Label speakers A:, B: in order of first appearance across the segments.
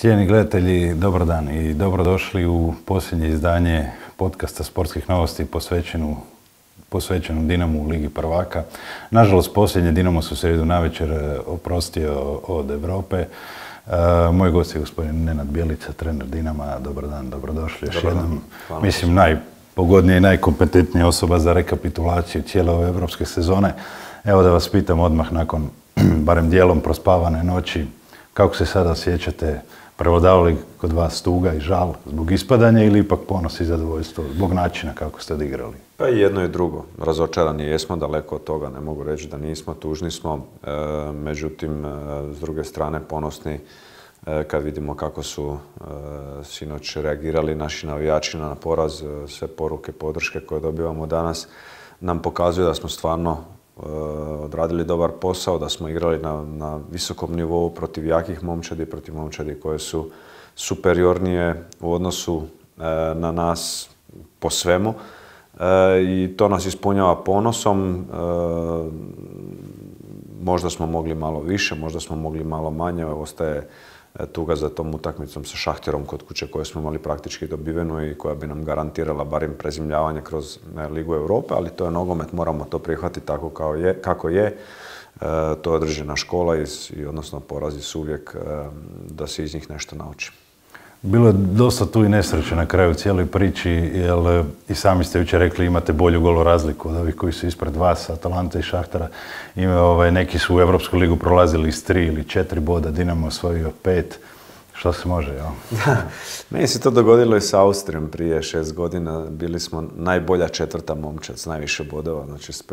A: Cijenjeni gledatelji, dobar dan i dobrodošli u posljednje izdanje podcasta Sportskih novosti posvećenu Dinamu u Ligi prvaka. Nažalost, posljednje Dinamo se u srijedu navečer oprostio od Europe. Moj gost je gospodin Nenad Bjelica, trener Dinama. Dobar dan, dobrodošli još jednom. Mislim, najpogodnija i najkompetentnija osoba za rekapitulaciju cijele ove evropske sezone. Evo da vas pitam odmah nakon barem dijelom prospavane noći, kako se sada osjećate? Prevladavali kod vas tuga i žal zbog ispadanja ili ipak ponos i zadovoljstvo zbog načina kako ste odigrali?
B: Pa i jedno i drugo. Razočarani jesmo, daleko od toga, ne mogu reći da nismo, tužni smo. Međutim, s druge strane ponosni kad vidimo kako su sinoć reagirali naši navijači na poraz. Sve poruke, podrške koje dobivamo danas nam pokazuju da smo stvarno odradili dobar posao, da smo igrali na visokom nivou protiv jakih momčadi, protiv momčadi koje su superiornije u odnosu na nas po svemu. I to nas ispunjava ponosom. Možda smo mogli malo više, možda smo mogli malo manje. Ostaje tuga za tom utakmicom sa Šahtjerom kod kuće koju smo imali praktički dobivenu i koja bi nam garantirala barem prezimljavanje kroz Ligu Europe, ali to je nogomet, moramo to prihvatiti tako kako je. To je određena škola i odnosno porazi su uvijek da se iz njih nešto nauči.
A: Bilo je dosta tu i nesreće na kraju cijeloj priči, jer i sami ste jučer rekli imate bolju golo razliku od ovih koji su ispred vas, Atalanta i Šahtara. Neki su u Europsku ligu prolazili s 3 ili 4 boda, Dinamo osvojio 5. Što se može, jel?
B: Meni se to dogodilo i sa Austrijom prije 6 godina. Bili smo najbolja četvrta momčad s najviše bodova, znači s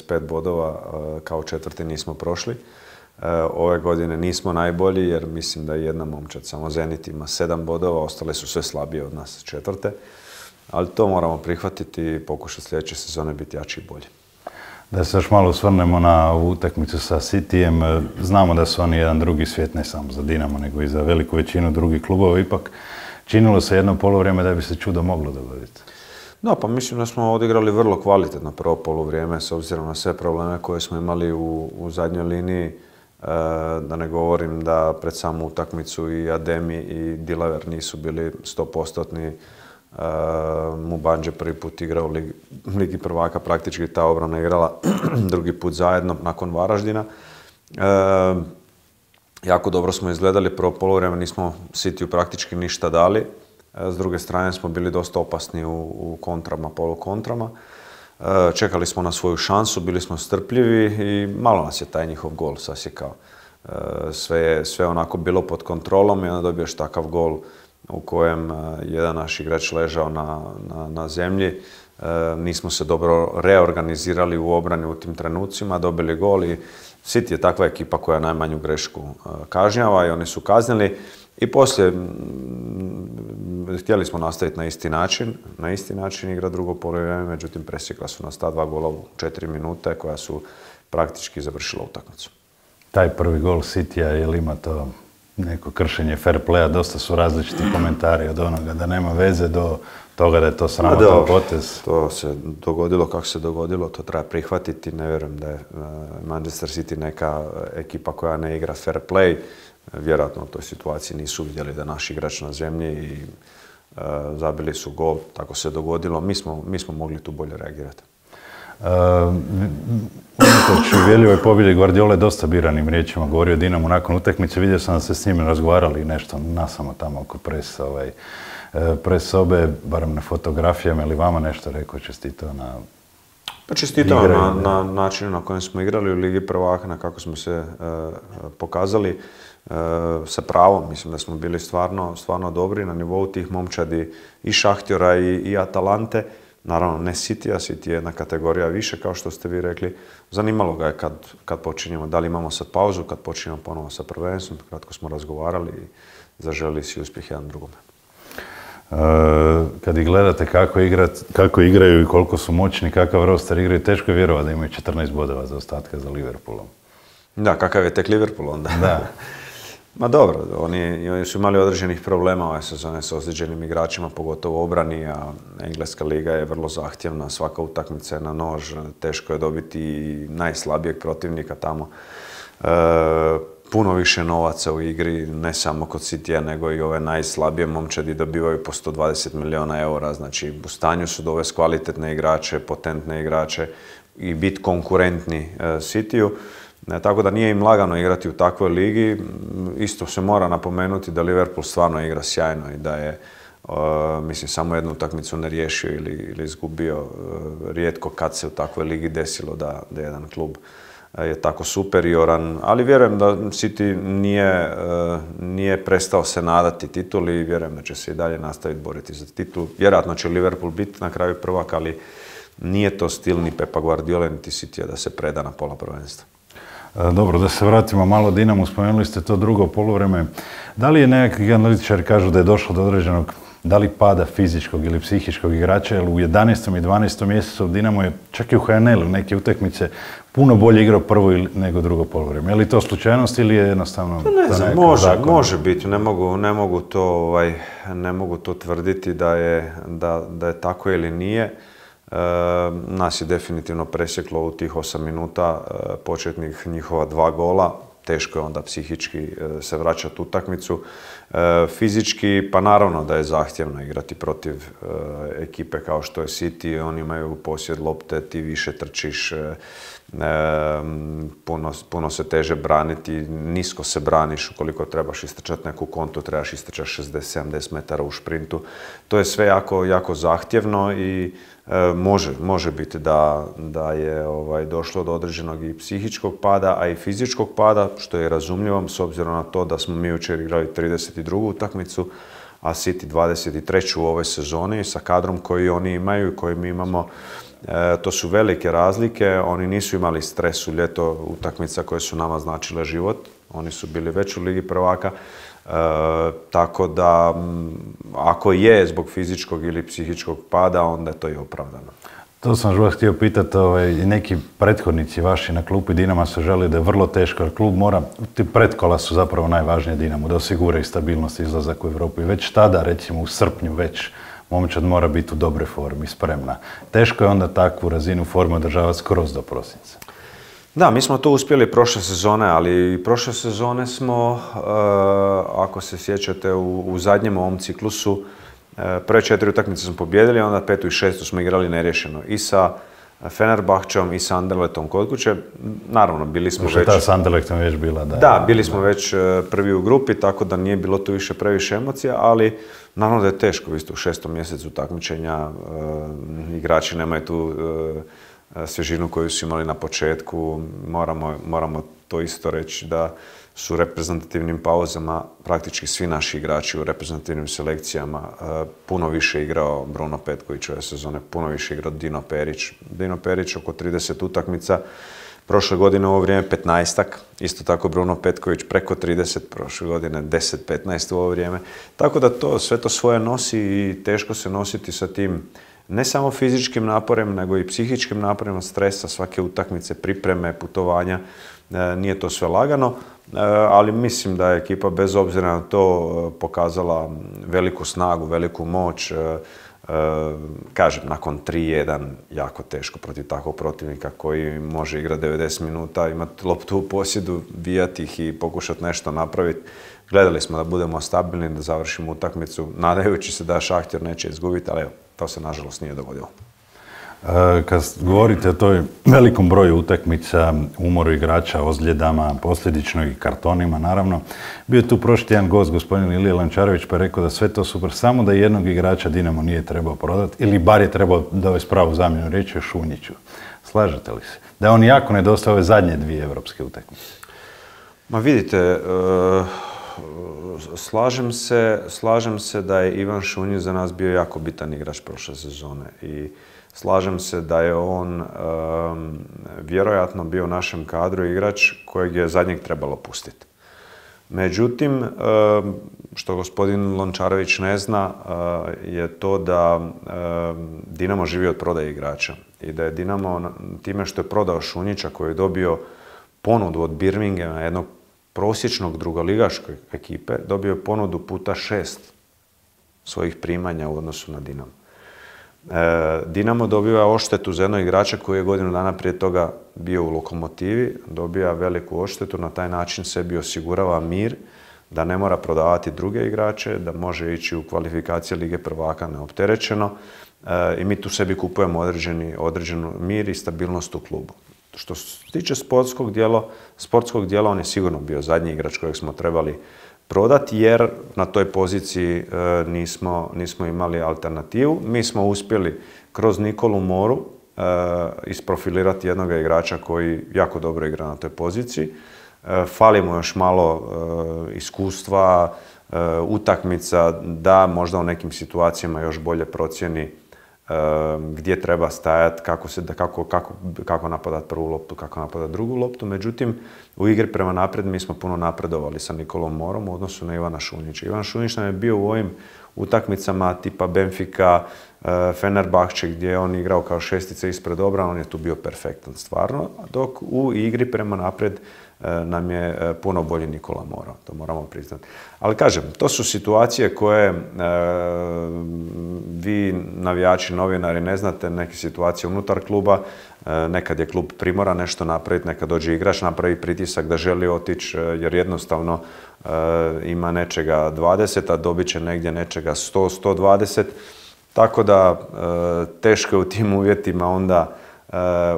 B: 5 bodova kao četvrti nismo prošli. Ove godine nismo najbolji jer mislim da je jedna momčad, samo Zenit ima 7 bodova, ostale su sve slabije od nas četvrte. Ali to moramo prihvatiti i pokušati sljedeće sezone biti jači i bolji.
A: Da se još malo osvrnemo na ovu utakmicu sa Cityjem. Znamo da su oni jedan drugi svijet, ne samo za Dinamo, nego i za veliku većinu drugih klubova. Ipak činilo se jedno polovrijeme da bi se čudo moglo dogoditi.
B: Da, pa mislim da smo odigrali vrlo kvalitetno prvo polovrijeme s obzirom na sve probleme koje smo imali u zadnjoj liniji. Da ne govorim da pred samu utakmicu i Ademi i Dilaver nisu bili 100%-ni. Mubanđe prvi put igrao u Ligi prvaka, praktički ta obrana igrala drugi put zajedno nakon Varaždina. Jako dobro smo izgledali, prvo poluvreme nismo Cityju praktički ništa dali. S druge strane smo bili dosta opasni u kontrama, polukontrama. Čekali smo na svoju šansu, bili smo strpljivi i malo nas je taj njihov gol sasjekao. Sve onako bilo pod kontrolom i onda dobiješ takav gol u kojem jedan naš igrač ležao na zemlji. Nismo se dobro reorganizirali u obrani u tim trenucima, dobili gol i City je takva ekipa koja najmanju grešku kažnjava i oni su kaznili. I poslije htjeli smo nastaviti na isti način igra drugo poluvreme, međutim presjekla su nas ta 2 gola u 4 minute koja su praktički završila utakmicu.
A: Taj prvi gol Cityja, je li ima to neko kršenje fair playa? Dosta su različiti komentari od onoga da nema veze do toga da je to sramotan potez.
B: To se dogodilo kako se dogodilo, to treba prihvatiti. Ne vjerujem da je Manchester City neka ekipa koja ne igra fair play. Vjerojatno u toj situaciji nisu vidjeli da naš igrač na zemlji i zabili su gol, tako se dogodilo. Mi smo mogli tu bolje reagirati.
A: Unatoč uvjerljivoj pobjedi Guardiola je dosta biranim riječima govorio o Dinamu nakon utakmice. Vidio sam da ste s njim razgovarali nešto nasamo tamo oko pres sobe, barem na fotografijama, ili vama nešto rekao, čestitao na...
B: Pa čestitao na načinu na kojem smo igrali u Ligi prvaka, na kako smo se pokazali sa pravom. Mislim da smo bili stvarno dobri na nivou tih momčadi i Šahtjora i Atalante. Naravno ne Cityja, City je jedna kategorija više kao što ste vi rekli. Zanimalo ga je kad počinjemo, da li imamo sad pauzu, kad počinjemo ponovo sa prvenstvom. Kratko smo razgovarali i zaželili si uspjeh jedan drugome.
A: Kad ih gledate kako igraju i koliko su moćni, kakav roster igraju, teško je vjerovati da imaju 14 bodova za ostatka za Liverpoolom.
B: Da, kakav je tek Liverpool onda.
A: Da.
B: Ma dobro, oni su imali određenih problema ove sezone s ozlijeđenim igračima, pogotovo u obrani, a Engleska liga je vrlo zahtjevna, svaka utakmica je na nož, teško je dobiti najslabijeg protivnika tamo. puno više novaca u igri, ne samo kod Citya, nego i ove najslabije momčadi dobivaju po 120 milijuna eura. Znači, u stanju su dovesti kvalitetne igrače, potentne igrače i biti konkurentni Cityu. Tako da nije im lagano igrati u takvoj ligi. Isto se mora napomenuti da Liverpool stvarno igra sjajno i da je, mislim, samo jednu utakmicu ne riješio ili izgubio. Rijetko kad se u takvoj ligi desilo da jedan klub je tako superioran, ali vjerujem da City nije prestao se nadati tituli i vjerujem da će se i dalje nastaviti boriti za titulu. Vjerojatno će Liverpool biti na kraju prvak, ali nije to stil ni Pepa Guardiola niti Citya da se preda na pola prvenstva.
A: Dobro, da se vratimo malo Dinamu, spomenuli ste to drugo poluvreme. Da li je nekakvi analitičari kažu da je došlo do određenog, da li pada fizičkog ili psihičkog igrača, jer u 11. i 12. mjesecu Dinamo je čak i u HNL-u neke utakmice puno bolje igrao prvo nego drugo poluvreme. Je li to slučajnost ili je jednostavno...
B: Ne znam, može biti, ne mogu to tvrditi da je tako ili nije. Nas je definitivno presjeklo u tih 8 minuta početnih njihova 2 gola. Teško je onda psihički se vraćati u utakmicu. Fizički, pa naravno da je zahtjevno igrati protiv ekipe kao što je City. Oni imaju posjed lopte, ti više trčiš, puno se teže braniti, nisko se braniš. Ukoliko trebaš istrčati neku kontu, trebaš istrčati 60-70 metara u šprintu. To je sve jako zahtjevno i može biti da je došlo do određenog i psihičkog pada, a i fizičkog pada, što je razumljivo s obzirom na to da smo mi jučer igrali 32. utakmicu, a City 23. u ovoj sezoni sa kadrom koji oni imaju i koji mi imamo. To su velike razlike, oni nisu imali stres u ljeto utakmica koje su nama značile život, oni su bili već u Ligi prvaka. Tako da, ako je zbog fizičkog ili psihičkog pada, onda je to i opravdano.
A: To sam vas htio pitati, neki prethodnici vaši na klupi Dinama su želi da je vrlo teško, jer klub mora, ti pretkola su zapravo najvažnije Dinamu, da osiguraju stabilnost i izlazak u Europu. I već tada, recimo u srpnju već, momčad mora biti u dobroj formi, spremna. Teško je onda takvu razinu forme održavati skroz do prosinca.
B: Da, mi smo to uspjeli prošle sezone, ali prošle sezone smo, ako se sjećate, u zadnjem ovom ciklusu, prve 4 utakmice smo pobijedili, onda 5. i 6. smo igrali neriješeno. I sa Fenerbahčom i sa Anderlechtom kod kuće. Naravno, bili smo već...
A: Ta s Anderlechtom već bila, da.
B: Da, bili smo već prvi u grupi, tako da nije bilo tu više previše emocija, ali naravno da je teško. Vi ste u 6. mjesecu takmičenja, igrači nemaju tu svježinu koju su imali na početku. Moramo to isto reći da su u reprezentativnim pauzama praktički svi naši igrači u reprezentativnim selekcijama. Puno više igrao Bruno Petković ove sezone, puno više igrao Dino Perić. Dino Perić oko 30 utakmica, prošle godine u ovo vrijeme 15-ak, isto tako Bruno Petković preko 30, prošle godine 10-15 u ovo vrijeme. Tako da sve to svoje nosi i teško se nositi sa tim ne samo fizičkim naporem, nego i psihičkim naporima, stresa, svake utakmice, pripreme, putovanja. Nije to sve lagano, ali mislim da je ekipa bez obzira na to pokazala veliku snagu, veliku moć. Kažem, nakon 3-1 jako teško protiv takvog protivnika koji može igrati 90 minuta, imati loptu u posjedu, bijati ih i pokušati nešto napraviti. Gledali smo da budemo stabilni, da završimo utakmicu, nadajući se da Šahtjor neće izgubiti, ali evo, to se nažalost nije dogodilo.
A: Kad govorite o toj velikom broju utakmica, umoru igrača, ozljedama, posljedično i kartonima, naravno, bio je tu prošli jedan gost, gospodin Ilija Lančarević, pa je rekao da sve to super, samo da jednog igrača Dinamo nije trebao prodati, ili bar je trebao dovesti pravu zamjenu, riječ o Šunjiću. Slažete li se? Da je on jako nedostaje ove zadnje 2 europske utakmice.
B: Ma vidite, slažem se da je Ivan Šunjić za nas bio jako bitan igrač prošle sezone i slažem se da je on vjerojatno bio u našem kadru igrač kojeg je zadnjeg trebalo pustiti. Međutim, što gospodin Lončarević ne zna, je to da Dinamo živi od prodaje igrača i da je Dinamo time što je prodao Šunjića koji je dobio ponudu od Birminghama, jednog prosječnog drugoligaške ekipe, dobio je ponudu puta 6 svojih primanja u odnosu na Dinamo. Dinamo dobiva odštetu za jednog igrača koji je godinu dana prije toga bio u Lokomotivi, dobija veliku odštetu, na taj način sebi osigurava mir, da ne mora prodavati druge igrače, da može ići u kvalifikacije Lige prvaka neopterećeno i mi tu sebi kupujemo određenu mir i stabilnost u klubu. Što se tiče sportskog dijela, on je sigurno bio zadnji igrač kojeg smo trebali prodati jer na toj poziciji nismo imali alternativu. Mi smo uspjeli kroz Nikolu Moru isprofilirati jednog igrača koji jako dobro igra na toj poziciji. Fali mu još malo iskustva, utakmica, da možda u nekim situacijama još bolje procijeni gdje treba stajati, kako napadati prvu loptu, kako napadati drugu loptu. Međutim, u igri prema naprijed mi smo puno napredovali sa Nikolom Morom u odnosu na Ivana Šunjića. Ivan Šunjić nam je bio u ovim utakmicama tipa Benfica, Fenerbahče gdje je on igrao kao šestica ispred obrane, on je tu bio perfektan stvarno, dok u igri prema naprijed nam je puno bolji Nikola Moro, to moramo priznati. Ali kažem, to su situacije koje vi navijači, novinari ne znate, neke situacije unutar kluba, nekad je klub primoran nešto napraviti, nekad dođe igrač, napravi pritisak da želi otići jer jednostavno ima nečega 20, a dobit će negdje nečega 100, 120. Tako da teško je u tim uvjetima onda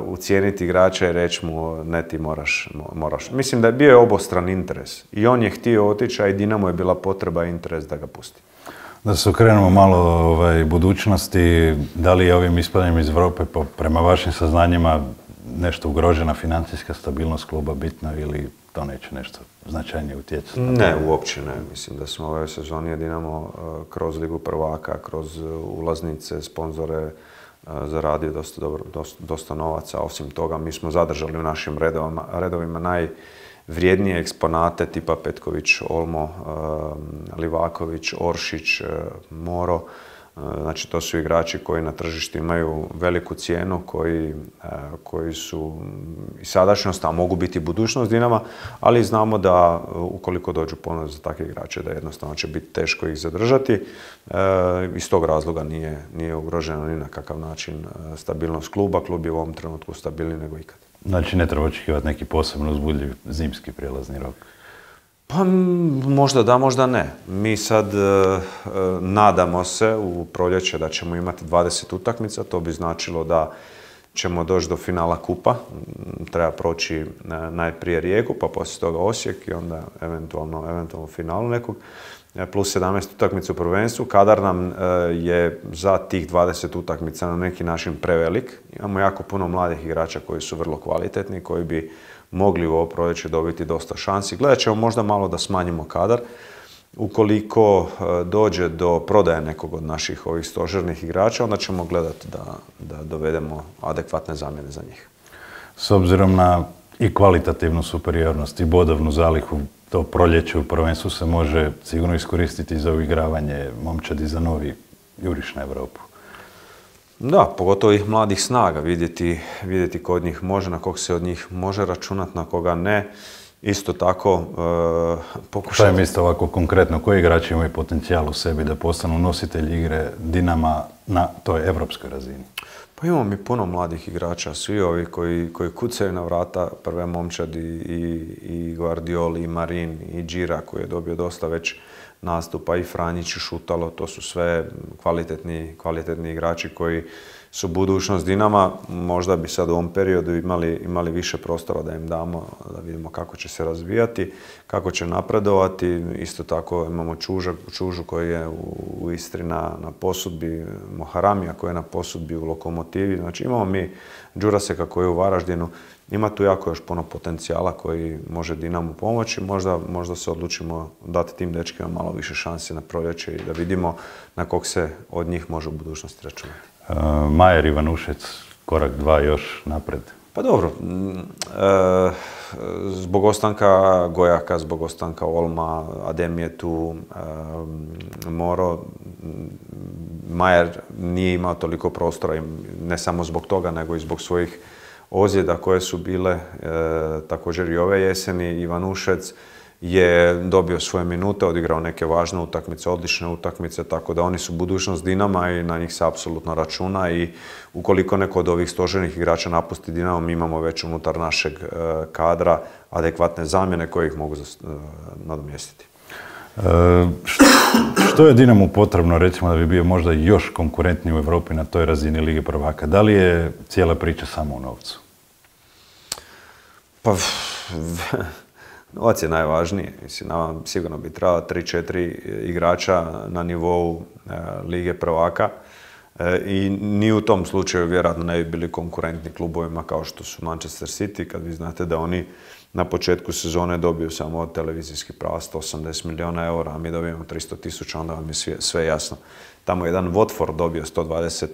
B: ucijeniti igrača i reći mu ne, ti moraš. Mislim da je bio obostran interes. I on je htio otići, a i Dinamo je bila potreba i interes da ga pusti.
A: Da se okrenemo malo budućnosti, da li je ovim ispadanjem iz Europe prema vašim saznanjima nešto ugrožena financijska stabilnost kluba bitna ili to neće nešto značajnije utjecati?
B: Ne, uopće ne. Mislim da smo ove sezoni Dinamo kroz Ligu prvaka, kroz ulaznice, sponzore zaradio dosta novaca. Osim toga, mi smo zadržali u našim redovima najvrijednije eksponate tipa Petković, Olmo, Livaković, Oršić, Moro. Znači, to su igrači koji na tržištu imaju veliku cijenu, koji su i sadašnjost, a mogu biti budućnost Dinama, ali znamo da ukoliko dođu ponude za takve igrače, da jednostavno će biti teško ih zadržati. Iz tog razloga nije ugroženo ni na kakav način stabilnost kluba. Klub je u ovom trenutku stabilniji nego ikad.
A: Znači, ne treba očekivati neki posebno uzbudljiv zimski prijelazni rok?
B: Pa možda da, možda ne. Mi sad nadamo se u proljeće da ćemo imati 20 utakmica. To bi značilo da ćemo doći do finala kupa. Treba proći najprije Rijeku, pa poslije toga Osijek i onda eventualno finalu nekog. Plus 17 utakmica u prvenstvu. Kadar nam je za tih 20 utakmica na neki način prevelik. Imamo jako puno mladih igrača koji su vrlo kvalitetni, koji bi mogli u ovo proljeće dobiti dosta šansi. Gledat ćemo možda malo da smanjimo kadar. Ukoliko dođe do prodaje nekog od naših ovih stožernih igrača, onda ćemo gledati da dovedemo adekvatne zamjene za njih.
A: S obzirom na i kvalitativnu superiornost i bodovnu zalihu, to proljeće u prvenstvu se može sigurno iskoristiti za uigravanje momčadi za novi juriš na Europu.
B: Da, pogotovo ih mladih snaga, vidjeti ko od njih može, na kog se od njih može računati, na koga ne. Isto tako pokušati...
A: Šta je mislite ovako konkretno, koji igrači imaju potencijal u sebi da postanu nositelji igre Dinama na toj evropskoj razini?
B: Pa imamo mi puno mladih igrača, svi ovi koji kucaju na vrata prve momčadi i Guardioli, i Marin, i Đira koji je dobio dosta već nastupa, i Franjić, i Šutalo, to su sve kvalitetni igrači koji su budućnost Dinama. Možda bi sad u ovom periodu imali više prostora da im damo, da vidimo kako će se razvijati, kako će napredovati. Isto tako imamo Čužu koji je u Istri na posudbi, Moharamija koji je na posudbi u Lokomotivi. Znači imamo mi Đuraseka koji je u Varaždinu. Ima tu jako još puno potencijala koji može Dinamu pomoći. Možda se odlučimo dati tim dečkima malo više šanse na proljeće i da vidimo na kog se od njih može u budućnosti računati.
A: Majer, Ivanušec, korak 2 još napred.
B: Pa dobro, zbog ostanka Gojaka, zbog ostanka Olma, Adem je tu, Moro, Majer nije imao toliko prostora, ne samo zbog toga, nego i zbog svojih ozljeda koje su bile također i ove jeseni. Ivanušec je dobio svoje minute, odigrao neke važne utakmice, odlične utakmice, tako da oni su budućnost Dinama i na njih se apsolutno računa i ukoliko neko od ovih stožernih igrača napusti Dinamo, mi imamo već unutar našeg kadra adekvatne zamjene koje ih mogu nadomjestiti.
A: Što je Dinamu potrebno, recimo, da bi bio možda još konkurentniji u Europi na toj razini Lige prvaka? Da li je cijela priča samo u novcu?
B: Pa, novac je najvažniji. Mislim, nama sigurno bi trebalo 3-4 igrača na nivou Lige prvaka i ni u tom slučaju vjerojatno ne bi bili konkurentni klubovima kao što su Manchester City, kad vi znate da oni na početku sezone dobiju samo od televizijskih prava 180 milijuna eura, a mi dobijemo 300.000, onda vam je sve jasno. Tamo je jedan Watford dobio 120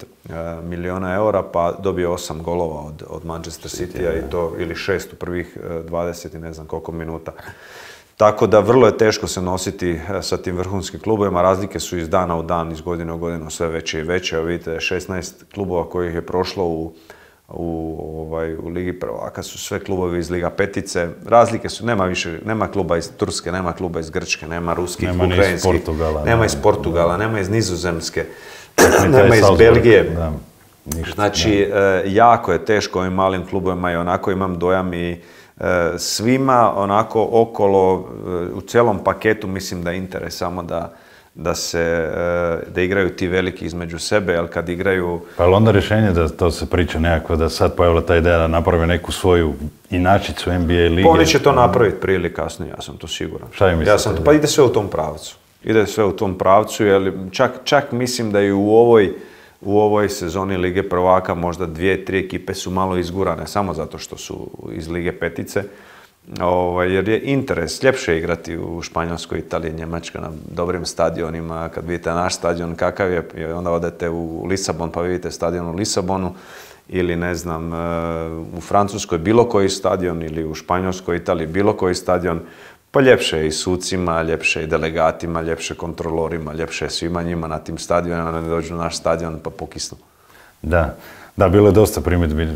B: milijuna eura, pa dobio 8 golova od Manchester City-a i to, ili 6 u prvih 20 i ne znam koliko minuta. Tako da vrlo je teško se nositi sa tim vrhunskim klubovima. Razlike su iz dana u dan, iz godine u godinu sve veće i veće. Evo vidite, 16 klubova kojih je prošlo u Ligi prvaka su sve klubovi iz Liga petice. Razlike su, nema kluba iz Turske, nema kluba iz Grčke, nema ruskih, ukrajinskih, nema iz Portugala, nema iz Nizozemske, nema iz Belgije. Znači, jako je teško ovim malim klubovima i onako imam dojam i svima onako okolo, u cijelom paketu mislim da je interes samo da igraju ti veliki između sebe, jer kad igraju...
A: Pa je onda rješenje da to se priča nekako, da sad pojavila ta ideja da naprave neku svoju inačicu NBA lige?
B: Pa oni će to napraviti prije ili kasnije, ja sam to siguran.
A: Šta vi mislite?
B: Pa ide sve u tom pravcu. Ide sve u tom pravcu, jer čak mislim da i u ovoj sezoni Lige prvaka možda 2-3 ekipe su malo izgurane, samo zato što su iz Lige petice. Jer je interes, ljepše je igrati u Španjolskoj, Italiji, Njemačkoj na dobrim stadionima. Kad vidite naš stadion kakav je, onda odete u Lisabon pa vidite stadion u Lisabonu, ili ne znam, u Francuskoj bilo koji stadion, ili u Španjolskoj, Italiji bilo koji stadion. Pa ljepše je i sucima, ljepše je i delegatima, ljepše kontrolorima, ljepše je svima njima na tim stadionima, da ne dođu na naš stadion pa pokisnu.
A: Da, bilo je dosta primjedbi,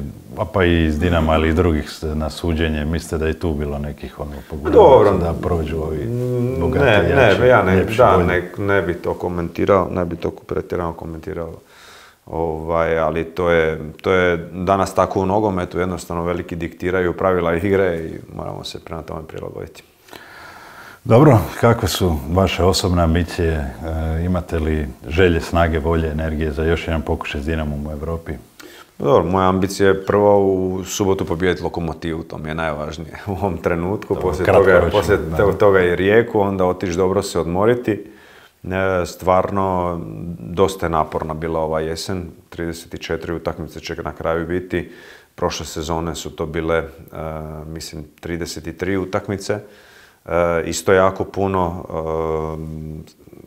A: pa i iz Dinama, ali i drugih na suđenje. Mislite da je tu bilo nekih pogledavaca da prođu ovi bogati, jači,
B: ne bi to komentirao, ne bi to pretjerano komentirao. Ali to je danas tako u nogometu, jednostavno veliki diktiraju pravila igre i moramo se prema tome prilagoditi.
A: Dobro, kakve su vaše osobne ambicije? Imate li želje, snage, volje, energije za još jedan pokušaj s Dinamom u Europi?
B: Dobro, moja ambicija je prvo u subotu pobijediti Lokomotivu, to mi je najvažnije u ovom trenutku. Poslije toga i Rijeku, onda otići dobro se odmoriti. Stvarno, dosta je naporna bila ova jesen, 34 utakmice će na kraju biti. Prošle sezone su to bile, mislim, 33 utakmice. Isto jako puno,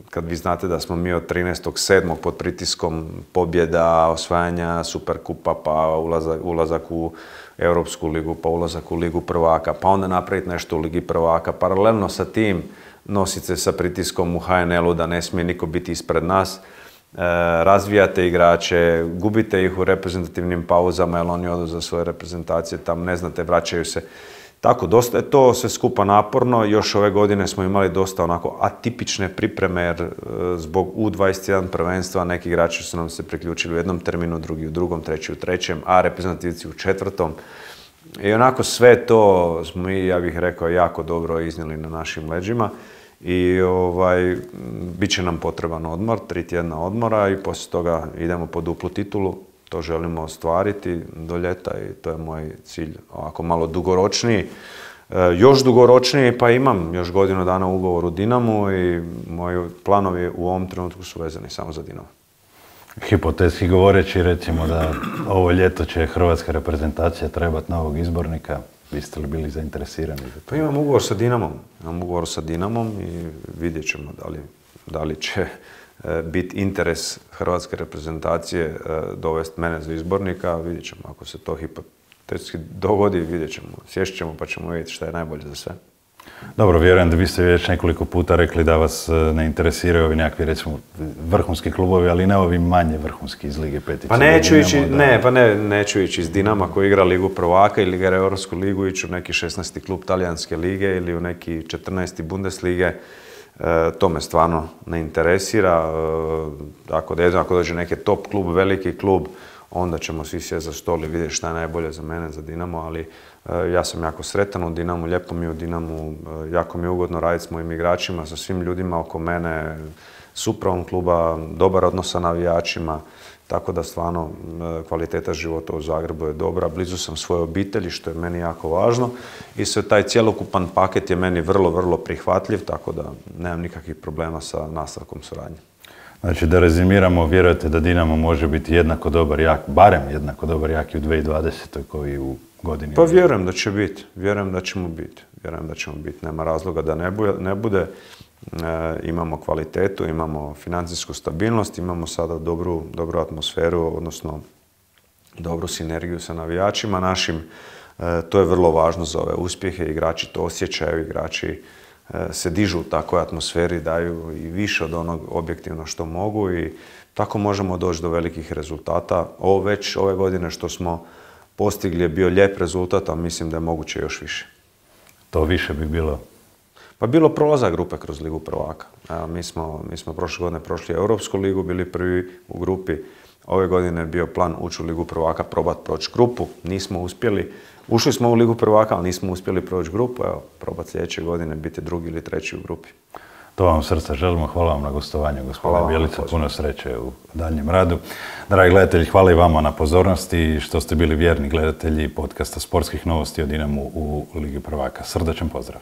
B: kad vi znate da smo mi od 13.7. pod pritiskom pobjeda, osvajanja Superkupa, pa ulazak u Europsku ligu, pa ulazak u Ligu prvaka, pa onda napraviti nešto u Ligi prvaka. Paralelno sa tim nosite se sa pritiskom u HNL-u da ne smije niko biti ispred nas. Razvijate igrače, gubite ih u reprezentativnim pauzama jer oni odu za svoje reprezentacije, tam ne znate, vraćaju se. Tako, dosta je to sve skupa naporno. Još ove godine smo imali dosta onako atipične pripreme jer zbog U21 prvenstva neki igrači su nam se priključili u jednom terminu, drugi u drugom, treći u trećem, a reprezentativci u četvrtom. I onako sve to smo mi, ja bih rekao, jako dobro iznijeli na našim leđima. I bit će nam potreban odmor, 3 tjedna odmora i poslije toga idemo po duplu titulu. To želimo ostvariti do ljeta i to je moj cilj. Ovako malo dugoročniji, još dugoročniji, pa imam još godinu dana ugovor u Dinamu i moji planovi u ovom trenutku su vezani samo za Dinamo.
A: Hipotetski govoreći, recimo da ovo ljeto će hrvatska reprezentacija trebati novog izbornika. Biste li bili zainteresirani za to?
B: Pa imam ugovor sa Dinamom i vidjet ćemo da li će biti interes hrvatske reprezentacije dovesti mene za izbornika. Vidjet ćemo, ako se to hipotetski dogodi, vidjet ćemo. Sješt ćemo pa ćemo vidjeti šta je najbolje za sve.
A: Dobro, vjerujem da biste već nekoliko puta rekli da vas ne interesiraju ovi nekakvi, recimo, vrhunski klubovi, ali ne ovi manje vrhunski iz Lige Petice.
B: Pa neću ići iz Dinama koji igra Ligu prvaka ili igra Europsku ligu, ići u neki 16. klub Talijanske lige ili u neki 14. Bundeslige. To me stvarno ne interesira. Ako dođe neki top klub, veliki klub, onda ćemo svi sjeti za stol i vidjeti šta je najbolje za mene, za Dinamo, ali ja sam jako sretan u Dinamu, lijepo mi je u Dinamu, jako mi je ugodno raditi s mojim igračima, sa svim ljudima oko mene, s upravom kluba, dobar odnos sa navijačima, tako da stvarno kvaliteta života u Zagrebu je dobra, blizu sam svoje obitelji, što je meni jako važno i sve taj cjelokupan paket je meni vrlo, vrlo prihvatljiv, tako da nemam nikakvih problema sa nastavkom suradnje.
A: Znači, da rezimiramo, vjerujete da Dinamo može biti jednako dobar, jak, barem jednako dobar, jak i u 2020. koji u godini?
B: Pa vjerujem da će biti, vjerujem da ćemo biti. Nema razloga da ne bude. Imamo kvalitetu, imamo financijsku stabilnost, imamo sada dobru atmosferu, odnosno dobru sinergiju sa navijačima našim. To je vrlo važno za ove uspjehe, igrači to osjećaju, igrači se dižu u takvoj atmosferi, daju i više od onog objektivno što mogu i tako možemo doći do velikih rezultata. Ove godine što smo postigli je bio lijep rezultat, a mislim da je moguće još više.
A: To više bi bilo?
B: Pa bilo prolazak grupe kroz Ligu prvaka. Mi smo prošle godine prošli Europsku ligu, bili prvi u grupi. Ove godine je bio plan ući u Ligu prvaka, probati proći grupu. Nismo uspjeli. Ušli smo u Ligu prvaka, ali nismo uspjeli proći grupu. Evo, probati sljedeće godine biti drugi ili treći u grupi.
A: To vam srca želimo. Hvala vam na gostovanju, gospodine Bjelica. Puno sreće u daljnjem radu. Dragi gledatelji, hvala i vama na pozornosti što ste bili vjerni gledatelji podcasta Sportskih novosti o Dinamu u Ligi prvaka. Srdačan pozdrav.